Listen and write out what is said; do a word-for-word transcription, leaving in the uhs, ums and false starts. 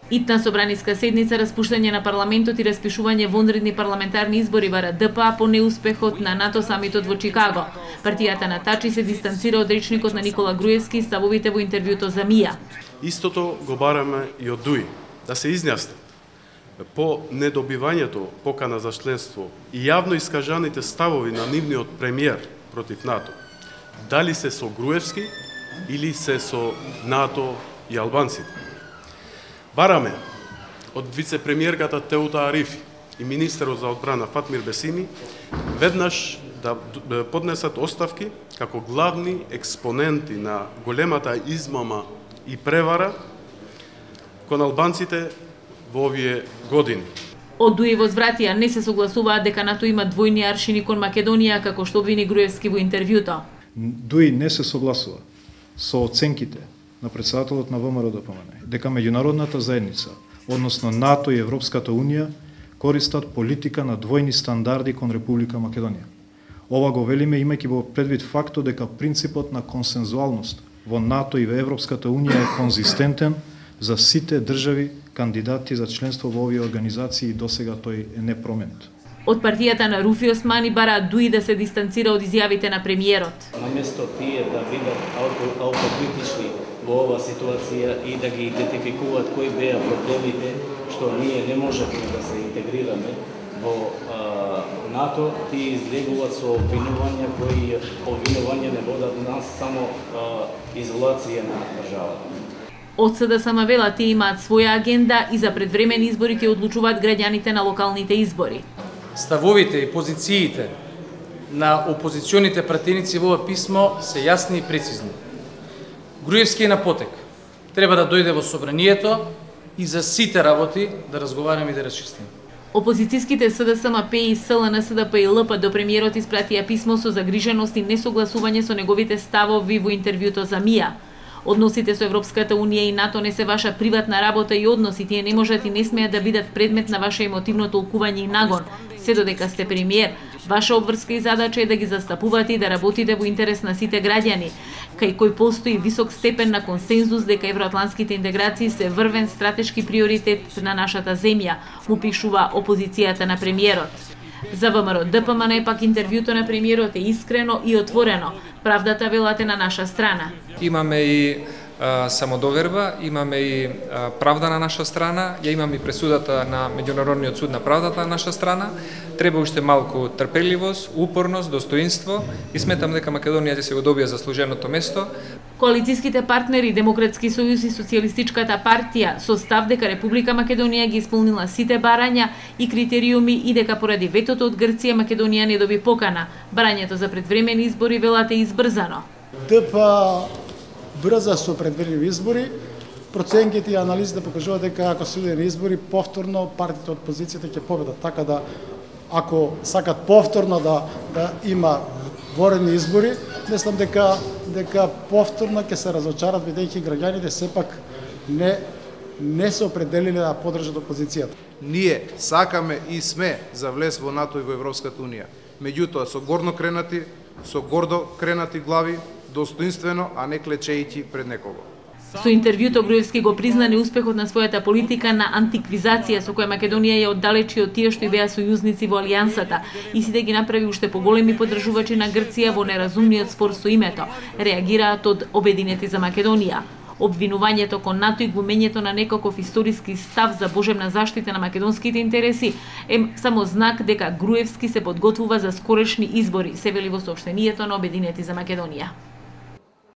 Итна собраниска седница, распуштање на парламентот и распишување вонредни парламентарни избори бара Д П А по неуспехот на НАТО самитот во Чикаго. Партијата на Тачи се дистанцира од речникот на Никола Груевски и ставовите во интервјуто за МИА. Истото го бараме и од ДУИ, да се изјасни по недобивањето покана за членство и јавно искажаните ставови на нивниот премиер против НАТО. Дали се со Груевски или се со НАТО и албанците. Бараме од вице-премиерката Теута Арифи и министерот за одбрана Фатмир Бесини веднаш да поднесат оставки како главни експоненти на големата измама и превара кон албанците во овие години. Од ДУИ возвратија не се согласуваат дека НАТО има двојни аршини кон Македонија, како што обвини Груевски во интервјуто. ДУИ не се согласува со оценките на председателот на ВМРО Д П М Н дека меѓународната заедница, односно НАТО и Европската Унија, користат политика на двојни стандарди кон Република Македонија. Ова го велиме имајќи во предвид фактот дека принципот на консензуалност во НАТО и во Европската Унија е конзистентен за сите држави кандидати за членство во овие организации и досега тој е непроменет. Од партијата на Руфи Османи бара ДУИ да се дистанцира од изјавите на премиерот. Наместо тие да бидат аутокритични во оваа ситуација и да ги идентификуваат кои беа проблемите што ние не можеме да се интегрираме во а, НАТО, тие излегуваат со обвинувања кои обвинувања не водат нас само а, изолација на државата. Од С Д С М вела тие имаат своја агенда и за предвремени избори ќе одлучуваат граѓаните на локалните избори. Ставовите и позициите на опозиционите пратеници во ова писмо се јасни и прецизни. Груевски е на потек. Треба да дојде во собранието и за сите работи да разговараме и да расчистиме. Опозицијските С Д С М П и С Л Н С Д П и Л П до премиерот испратија писмо со загриженост и несогласување со неговите ставови во интервјуто за МИА. Односите со Европската Унија и НАТО не се ваша приватна работа и односи, тие не можат и не смеат да бидат предмет на ваше емотивно толкување и нагон. Се додека сте премиер, ваша обврска и задача е да ги застапувате и да работите во интерес на сите граѓани, кај кој постои висок степен на консензус дека евроатлантските интеграции се врвен стратешки приоритет на нашата земја, му пишува опозицијата на премиерот. За ВМРО Д П М Н пак интервјуто на премиерот е искрено и отворено. Правдата велате на наша страна. Имаме и а, самодоверба, имаме и а, правда на наша страна, ја имаме и пресудата на Меѓународниот суд на правдата на наша страна. Треба уште малку трпеливост, упорност, достоинство и сметам дека Македонија ќе се го добија заслуженото место. Коалицијските партнери Демократски сојуз и Социјалистичката партија со став дека Република Македонија ги исполнила сите барања и критериуми и дека поради ветото од Грција Македонија не доби покана. Барањето за предвремени избори велате избрзано. Д П А брза со предвремени избори. Проценките и анализите покажуваат дека ако се иде на избори, повторно партиите од опозицијата ќе победат. Така да, ако сакат повторно да, да има воредни избори, мислам дека дека повторно ќе се разочарат, бидејќи граѓаните сепак не не се определиле да поддржат опозицијата. Ние сакаме и сме за влез во НАТО и во Европската Унија. Меѓутоа со горно кренати, со гордо кренати глави, достоинствено, а не клечејќи пред некого. Со интервјуто Груевски го призна неуспехот на својата политика на антиквизација со која Македонија ја оддалечи од тие што и беа сојузници во алијансата и сите ги направи уште поголеми поддржувачи на Грција во неразумниот спор со името, реагираат од Обединети за Македонија. Обвинувањето кон НАТО и глумењето на некаков историски став за божемна заштита на македонските интереси е само знак дека Груевски се подготвува за скорешни избори, се вели во соопштението на Обединети за Македонија.